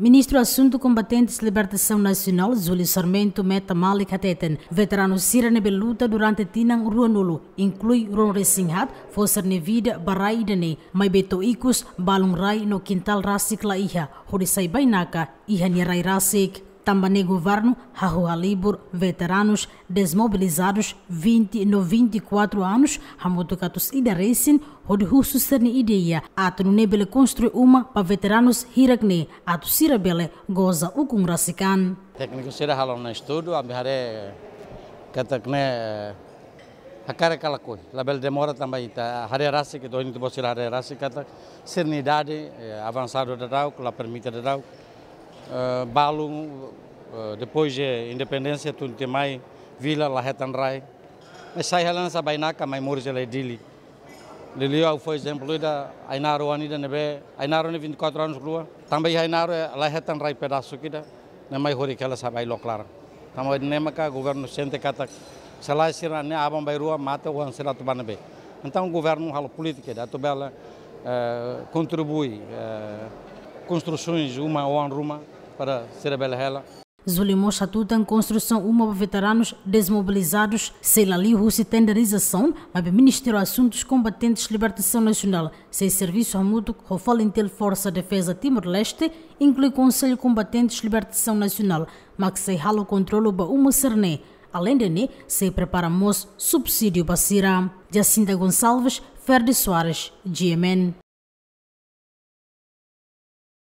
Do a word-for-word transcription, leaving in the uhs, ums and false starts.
Ministru Asuntu Kombatentes Libertasaun Nasionál, Júlio Sarmento Meta Malik hateten, veteranu sira ne'ebé luta durante tinan ruanulu, inklui ruanulu-resin-haat, fó sira-nia vida ba rai ida-ne'e, maibé to'o ikus balun rai no kintál rasik la iha, hodi sai bainaka iha nia rai rasik. Tanba ne'e governu hahú halibur veteranus desmobilizadus vinte no vinte e quatro anos, hamutuk atus ida resin, hodi husu sira-nia ideia atu nune'e bele konstrui uma ba veteranus hirak-ne'e atu sira bele goza ukun rasik an. Tékniku sira halo ona estudu, ami haree katak ne'e, eh, hakarak ka lakohi. Labele demora tanba ita haree rasik, ita ohin ita-boot sira haree rasik katak sira-nia idade, eh, avansadu daudauk, la permite daudauk. Eh, balun, eh, depois de independénsia, tun tiha mai vila, la hetan rai. Maibé sai hela hanesan bainaka, mai moris hela iha Dili. Liuliu ha'u fó ezemplu ida, Ainaro oan ida ne'ebé, Ainaro ne'e vinte e quatro anos rua. Tanba iha Ainaro, eh, la hetan rai pedasuk ida, ne'e mai horik hela sai ba Ilok Laran. Tanba ne'e maka governu sente katak, se lae sira-ne'e aban-bainrua mate, oan sira atu ba ne'ebé. Entaun governu halo polítika ida atu bele, eh, kontribui, eh, konstrusaun uma, oan ruma, para sira bele hela. Júlio mós hatutan konstrusaun uma ba veteranus desmobilizadus sei la liu husi tenderizasaun, maibé Ministériu Asuntus Kombatentes Libertasaun Nasionál sei servisu hamutuk ho FALINTIL, Forsa Defeza Timor-Leste, inklui Konsellu Kombatentes Libertasaun Nasionál, mak sei halo kontrolu ba uma sira-ne'e. Aleinde ne'e, sei prepara mós subsídiu ba sira. Jacinta Gonçalves, Ferdi Soares, G M N.